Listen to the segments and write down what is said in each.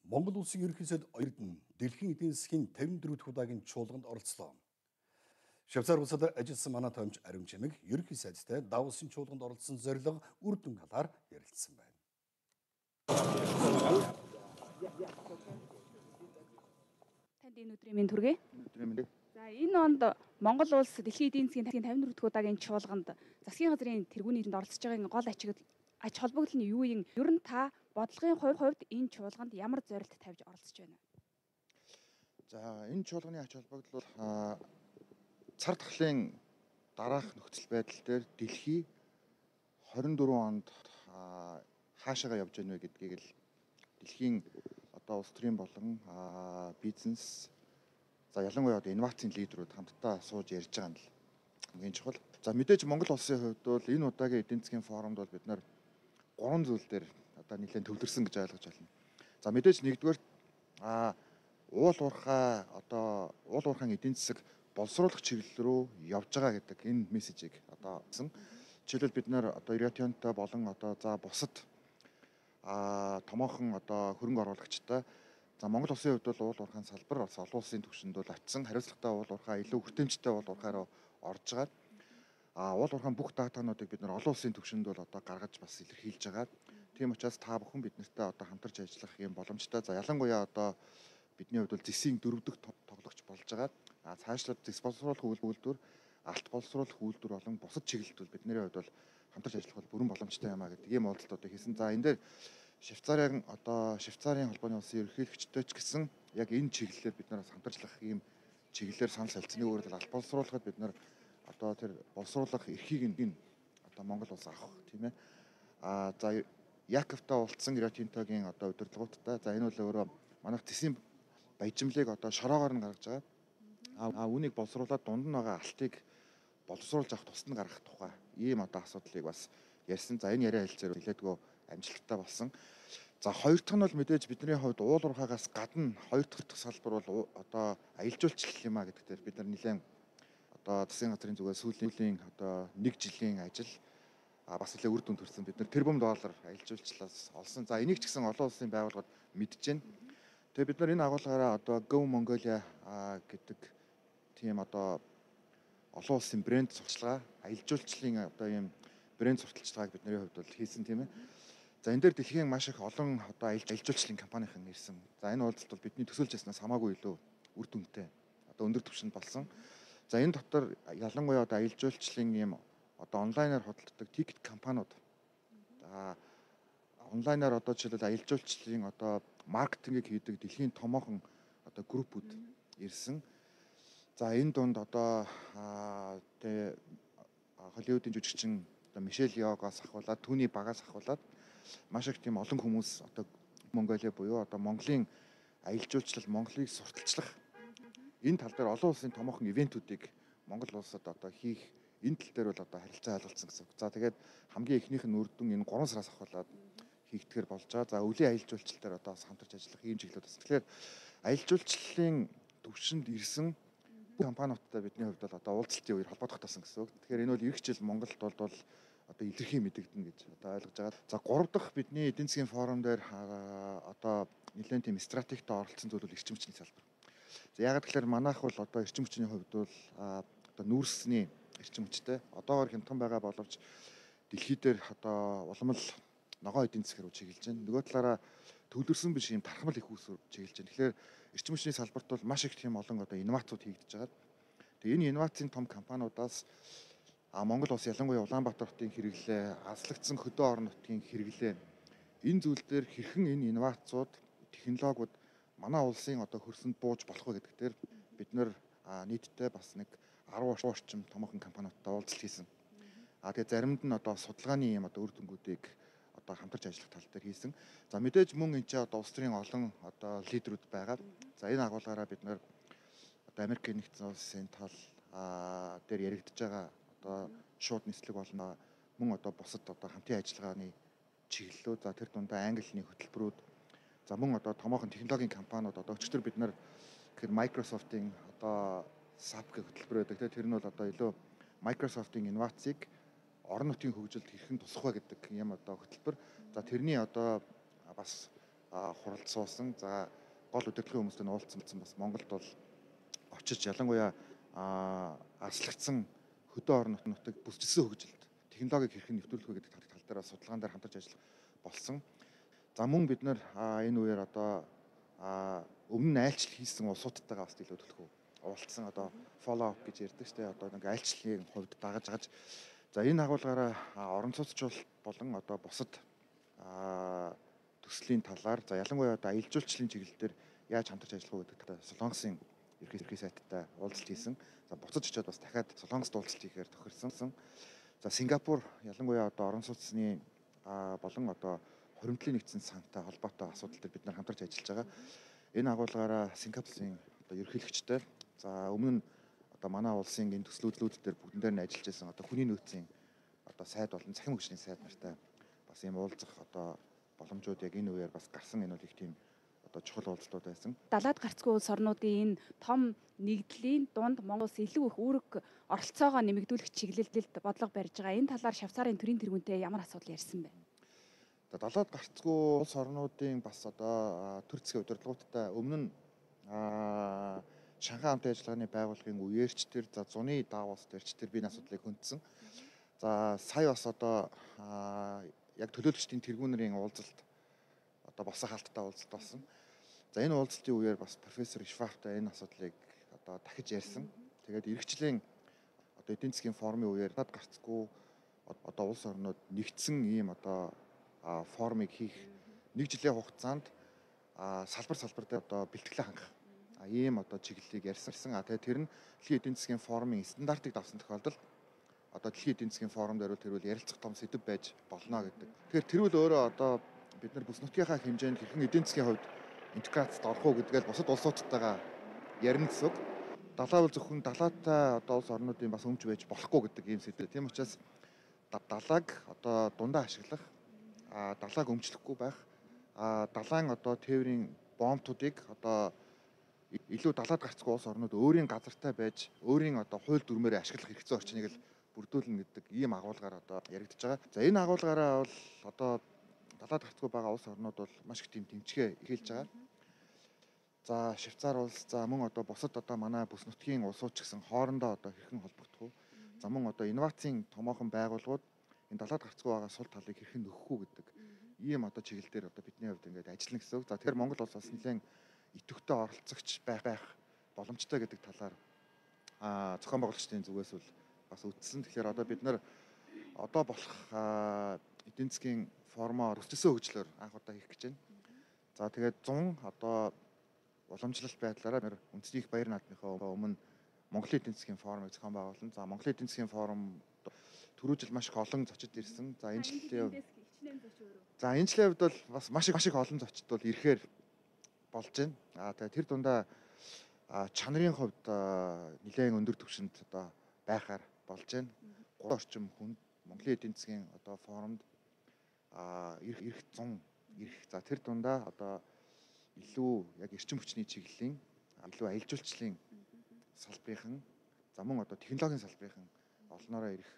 Монгол улсын ерөнхий сайд Эрдэнэ дэлхийн эдийн засгийн 54 дахь удаагийн чуулганд оролцлоо. Швейцар улсад ажилласан манай томч Ариун Чимэг ерөнхий сайдтай Давосын чуулганд оролцсон зорилго үр дүн талаар ярилцсан байна. Танд энэ өдрийн мэнд хүргэе. Өдрийн мэнд. За энэ онд Монгол улс дэлхийн эдийн засгийн 54 дахь удаагийн чуулганд засгийн газрын тэргүүний нэрэнд оролцож байгаагийн гол ач холбогдол нь юу юм? Ер нь та бодлогын хувьд энэ чуулганд ямар зорилт тавьж оролцож байна? За энэ чуулганы ач холбогдол бол цар тахлын дараах нөхцөл байдал дээр дэлхий 24 онд хаашаага явж байна вэ гэдгийг л дэлхийн одоо улс төрийн болон бизнес за ялангуяа одоо инновацийн лидерүүд хамтдаа сууж ярьж байгаа нь л хамгийн чухал. За мэдээж Монгол улсын хувьд бол энэ удаагийн эдийн засгийн форумд бол бид нар гурван зүйл дээр одоо нэлээд төвлөрсөн гэж ойлгож байна. За мэдээж нэгдүгээр уул уурхайн эдийн засаг боловсруулах чиглэл рүү явж байгаа гэдэг энэ мессежийг одоо авсан. Жишээлбэл бид нар одоо Риотонтой болон одоо за бусад томоохон одоо хөрөнгө оруулагчтай за Монгол улсын хувьд бол уул уурхайн салбар бас олон улсын түвшинд бол очсон. Хариуцлагатай уул уурхай илүү хүртээмжтэй уул уурхайроо орж байгаа. Уул уурхайн бүх датануудыг бид нар олон улсын түвшинд бол одоо гаргаж бас илэрхийлж байгаа. Тийм учраас та бүхэн бид нартай одоо хамтарч ажиллах юм боломжтой. За ялангуяа одоо бидний хувьд бол ЗИС-ийн 4 дахь тоглогч болж байгаа. Цаашлаад ЗИС боловсруулах үйлдвэр, алт боловсруулах үйлдвэр болон бусад чиглэлд бол бидний хувьд бол хамтарч ажиллах бол бүрэн боломжтой юм а гэдэг ийм уулзалт одоо хийсэн. За энэ дээр Швейцарын холбооны улсын ерөнхийлөгчтэй ч гэсэн яг энэ чиглэлээр бид нараас хамтарчлах ийм чиглэлээр санал солилцсны өөрөөр алт боловсруулахад бид нар одоо тэр боловсруулах эрхийг нь одоо Монгол улс авах тийм ээ. За Яковтай уулзсан Риотинтогийн одоо удирдлагуудтай за энэ бол өөрөө манайх ЗИС-ийн баяжмлыг одоо шороогоор нь гаргаж байгаа. Үүнийг боловсруулаад дунд нь байгаа алтыг боловсруулж авах тусад нь гаргах тухай ийм одоо асуудлыг бас ярьсан. За энэ яриа хэлцээр нэлээдгүй амжилттай болсон. За хоёр дахь нь бол мэдээж бидний хувьд уул уурхайгаас гадна хоёр дахь салбар бол одоо аялал жуулчлал юм а гэдэг дээр бид нар нэлээд одоо засгийн газрын зүгээс сүүлийн одоо 1 жилийн ажил бас нэлээд үр дүн төрсөн. Бид нар тэрбум доллар аялал жуулчлалаас олсон. За энийг ч гэсэн олон улсын байгууллагууд мэдж байна. Тэгээ бид нар энэ агуулгаараа одоо Go Mongolia гэдэг тийм одоо олон улсын брэнд сурталчилгаа аялал жуулчлалын одоо ийм брэнд сурталчилгааг бидний хувьд бол хийсэн тийм ээ. За энэ дээр дэлхийн маш их олон одоо аялал жуулчлалын компанийн ирсэн. За энэ уулзалт бол бидний төсөөлж яснаас хамаагүй илүү үр дүнтэй одоо өндөр түвшинд болсон. За энэ дотор ялангуяа одоо аялал жуулчлалын ийм одоо онлайнаар худалддаг тикет компаниуд онлайнаар одоо жишээлбэл аялал жуулчлалын одоо маркетингийг хийдэг дэлхийн томоохон одоо группүүд ирсэн. За энэ дунд одоо Холливуудын жүжигчин одоо Мишель Йогоос ахуулаад түүний багаас ахуулаад маш их тийм олон хүмүүс одоо Монголиа буюу одоо Монголын аялал жуулчлал Монголыг сурталчлах энэ тал дээр олон улсын томоохон ивентүүдийг Монгол улсад одоо хийх энэ тал дээр бол одоо харилцаа ойлголцсон гэсэн. За тэгээд хамгийн ихнийх нь үр дүн энэ 3 сараас ахуулаад хийгдэхэр болж байгаа. За өвлийн аялал жуулчлал дээр одоо хамтарч ажиллах ийм чиглэлүүд бас. Тэгэхээр аялал жуулчлалын төвшөнд ирсэн компаниудтай бидний хувьд бол одоо уулзалтын үеэр холбогдох тасан гэсэн үг. Тэгэхээр энэ бол эх жил Монголд бол одоо илэрхий мэдэгдэнэ гэж одоо ойлгож байгаа. За 3 дахь бидний эдийн засгийн форум дээр одоо нэлээд тийм стратегтэй оролцсон зүйл бол эрчим хүчний салбар. За ягаад гэхээр манайх бол одоо эрчим хүчний хувьд бол одоо нүүрсний эрчим хүчтэй одоогоор хямдхан байгаа боловч дэлхий дээр одоо улам л ногоон эдийн засгаар чиглэж байна. Нөгөө талаараа төвлөрсөн биш юм тархамал их үүсвэр чиглэж байна. Тэгэхээр эрчим хүчний салбарт бол маш их тийм олон одоо инновацууд хийгдэж байгаа. Тэгээ энэ инновацийн том компаниудаас Монгол улс ялангуяа Улаанбаатар хотын хэрэглээ, азлагдсан хөдөө орон нутгийн хэрэглээ энэ зүйл дээр хэрхэн энэ инновацууд, технологиуд манай улсын одоо хөрсөнд бууж болох вэ гэдэг дээр бид нэр нийтдээ бас нэг 10 орчим томоохон компаниудтай уулзалт хийсэн. Тэгээ заримд нь одоо судалгааны юм одоо үр дүнгуудыг одоо хамтарч ажиллах тал дээр хийсэн. За мэдээж мөн энэ ч одоо улс төрийн олон одоо лидерүүд байгаа. За энэ агуулгаараа бид нэр одоо Америкийн нэгдсэн улсын тал дээр яригдж байгаа одоо шууд нислэг болно. Мөн одоо бусад одоо хамтын ажиллагааны чиглэлүүд за тэр дундаа англи хэлний хөтөлбөрүүд за мөн одоо томоохон технологийн компаниуд одоо өчтөр бид нар тэгэхээр Microsoft-ийн одоо SAP гэх хөтөлбөр байдаг. Тэр нь бол одоо илүү Microsoft-ийн инновацийг орон нутгийн хөгжилд хэрхэн тусах вэ гэдэг юм одоо хөтөлбөр. За тэрний одоо бас хуралд суусан. За гол удирдлагын хүмүүстэй уулзсан бас Монголд бол очиж ялангуяа аслагдсан хөдөө орон нутгийг бүсчилсэн хөгжилд технологиг хэрхэн нэвтрүүлэх вэ гэдэг тал дээр судалгаан дээр хамтарч ажиллах болсон. За мөн бид нэр энэ үеэр одоо өмнө нь айлчлал хийсэн улсуудтайгаа бас илүү төлхөө уулзсан одоо follow up гэж ярьдаг шүү дээ. Одоо нэг айлчлалын хувьд дагаж. За энэ агуулгаараа орон цуцчлал болон одоо бусад төслийн талаар за ялангуяа одоо аялал жуулчлалын чиглэл дээр яаж хамтарч ажиллах вэ гэдэг Солонгосын ерхий сайттай уулзалт хийсэн. За буцаж очиод бас дахиад Солонгост уулзалт хийхээр тохирсон. За Сингапур ялангуяа одоо орон сууцны болон одоо хуримтлын нэгдсэн сантай холбоотой асуудал дээр бид нар хамтарч ажиллаж байгаа. Энэ агуулгаараа Сингапурын одоо ерөнхийлөгчтэй за өмнө нь одоо манай улсын энэ төслүүд дээр бүгдэн дээр нь ажиллаж байсан одоо хүний нөөцийн одоо сайд болон цахим хөгжлийн сайд нартай бас ийм уулзах одоо боломжууд яг энэ үеэр бас гарсан. Энэ бол их тийм одоо чухал уулзалтууд байсан. Далаад гарцгүй улс орнуудын энэ том нэгдлийн дунд Монгол улс илүү их үүрэг оролцоогоо нэмэгдүүлэх чиглэлд бодлого барьж байгаа. Энэ талаар Швейцарын төрийн тэргүүнтэй ямар асуудал ярьсан бэ? Далаад гарцгүй улс орнуудын бас одоо төр засгийн удирдлагуудтай өмнө нь Шанхай хамтын ажиллагааны байгууллагын үеэрч тэр за зуны Давос дээрч тэр бие асуудлыг хөндсөн. За сая бас одоо яг төлөөлөгчдийн тэргүүнэрийн уулзалт одоо босоо хаалттай уулзалт болсон. За энэ уулзалтын үеэр бас профессор Ишвахтай энэ асуудлыг одоо дахиж ярьсан. Тэгээд иргэжлийн одоо эдийн засгийн форумын үеэр далаад гарцгүй одоо улс орнууд нэгдсэн ийм одоо форумыг хийх нэг жилийн хугацаанд салбар дээр одоо бэлтгэлээ хангах ийм одоо чиглэлийг ярьсан. Тэгээд тэр нь дэлхийн эдийн засгийн форумын стандартыг давсан тохиолдолд одоо дэлхийн эдийн засгийн форум дээр тэрвэл ярилцах том сэдв байж болно гэдэг. Тэгэхээр тэрвэл өөрөө одоо бид нар бүс нутгийнхаа хэмжээнд хэрхэн эдийн засгийн хувьд интеграцид орох уу гэдгээл бусад улсуудтайгаа ярина гэсэн үг. Далаа бол зөвхөн далаатай одоо улс орнуудын бас өмч байж болохгүй гэдэг ийм сэдв. Тийм учраас далааг одоо дундаа ашиглах, далааг өмчлөхгүй байх, далайн одоо тээврийн бомбтуудыг одоо илүү далаад гарцгүй улс орнууд өөрийн газартай байж өөрийн одоо хууль дүрмээрээ ашиглах хэрэгцээ орчныг л бүрдүүлнэ гэдэг ийм агуулгаар одоо яригдж байгаа. За энэ агуулгаараа бол одоо далаад гарцгүй байгаа улс орнууд бол маш их тийм тэмцгээ эхэлж байгаа. За Швейцар улс за мөн одоо бусад одоо манай бүс нутгийн улсууд ч гэсэн хоорондоо одоо хэрхэн холбогдох вэ? За мөн одоо инновацийн томоохон байгууллагууд энэ далаад гарцгүй байгаа сул талыг хэрхэн нөхөх үү гэдэг ийм одоо чиглэл дээр одоо бидний хувьд ингээд ажиллана гэсэн үг. За тэгэхээр Монгол улс бас нэлээд идэвхтэй оролцогч байх боломжтой гэдэг талаар зохион байгуулагчдын зүгээс бол бас үздсэн. Тэгэхээр одоо бид нар одоо болох эдийн засгийн формоор өссөн хөгжлөөр анх удаа хийх гэж байна. За тэгээд 100 одоо уламжлалт байдлаараа үндэсний их баяр наадмынхаа өмнө Монголын эдийн засгийн форумыг зохион байгуулсан. За Монголын эдийн засгийн форум түрүү жил маш их олон зочид ирсэн. За энэ жилийн хувьд бол бас маш их олон зочид бол ирэхээр болж байна. Тэгээд тэр дундаа чанарын хувьд нэлээд өндөр түвшинд одоо байхаар болж байна. 3 орчим хүнд Монголын эдийн засгийн одоо форумд ирэх 100 ирэх. За тэр дундаа одоо илүү яг эрчим хүчний чиглэлийн илүү аялал жуулчлалын салбарын за мөн одоо технологийн салбарын олноороо ирэх.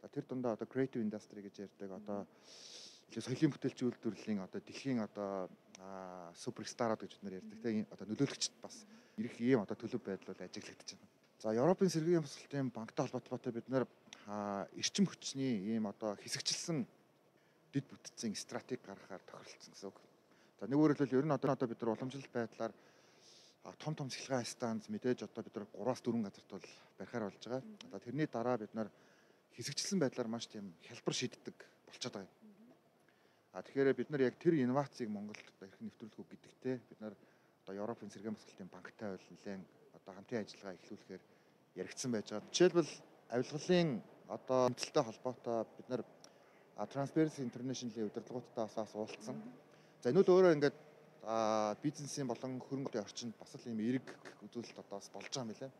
За тэр дундаа одоо creative industry гэж ярьдаг одоо илүү соёлын бүтээлч үйлдвэрлэлийн одоо дэлхийн одоо суперстарууд гэж бид нар ярьдаг. Тэгээ одоо нөлөөлөгчд бас ирэх ийм одоо төлөв байдал бол ажиглагдаж байна. За Европын сэргийн бусалтын банктай холбоотой бид нар эрчим хүчний ийм одоо хэсэгчлсэн дэд бүтцийн стратеги гаргахаар тохиролцсон гэсэн үг. За нэг өөрөөр хэлбэл ер нь одоо бид нар уламжлалт байдлаар том цэглэгээ станц мэдээж одоо бид нар 3-4 газарт бол барихаар болж байгаа. Одоо тэрний дараа бид нар хэсэгчлсэн байдлаар маш тийм хялбар шийддэг болчиход байгаа юм. Тэгэхээр бид нар яг тэр инновацийг Монголд одоо хэрхэн нэвтрүүлэх үү гэдэгтээ бид нар одоо Европын сэргийн бусалтын банктай бол нэлээд одоо хамтын ажиллагаа эхлүүлэхээр яригдсан байж байгаа. Жишээлбэл авилгалын одоо тэмцэлтэй холбоотой бид нар Transparency International-ийн удирдлагуудтай бас уулзсан. За энэ бол өөрөө ингээд бизнесийн болон хөрөнгөний орчинд бас л ийм эрг үзүүлэлт одоо бас болж байгаа юм билээ.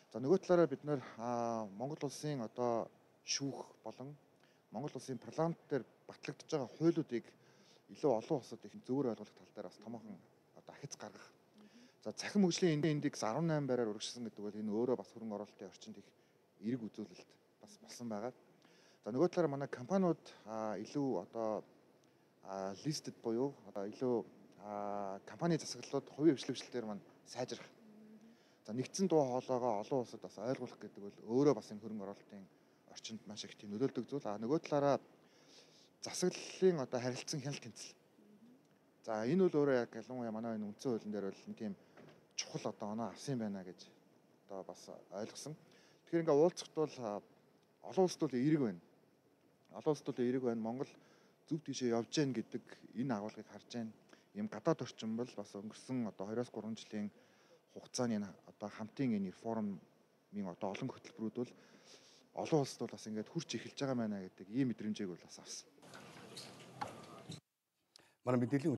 За нөгөө талаараа бид нар Монгол улсын одоо шүүх болон Монгол улсын парламент дээр батлагдж байгаа хуулиудыг илүү олон улсад их зөвөр ойлгох тал дээр бас томоохон одоо ахиц гаргах. За цахим хөгжлийн индекс 18 байраар өргөжсөн гэдэг бол энэ өөрөө бас хөрөнгө оруулалтын орчинд их эрг үзүүлэлт бас болсон байгаа. За нөгөө талаараа манай компаниуд илүү одоо listed буюу одоо илүү компани засаглалууд хувийн хвшлэгчлэлээр маань сайжрах. За нэгдсэн дуу хоолойгоо олон улсад бас ойлгуулах гэдэг бол өөрөө бас энэ хөрөнгө оруулалтын орчинд маш их тийм нөлөөлдөг зүйл. Нөгөө талаараа засаглалын одоо харилцан хяналт тэнцэл. За энэ бол өөрөө яг ялангуяа манай энэ үндсэн хуулийн дээр бол тийм чухал одоо оноо авсан байна гэж одоо бас ойлгосон. Тэгэхээр ингээ уулзахт бол олон улсад бол эерэг байна. Олон улсад бол эерэг байна. Монгол зөв тийшээ явж гэн гэдэг энэ агуулгыг харж байна. Ийм гадаад орчин бол бас өнгөрсөн одоо 2-3 жилийн хугацааны одоо хамтын энэ форумын одоо олон хөтөлбөрүүд бол олон улсад бол бас ингээд хурц эхэлж байгаа байна гэдэг ийм мэдрэмжийг бол бас авсан. Манай мэдээллийн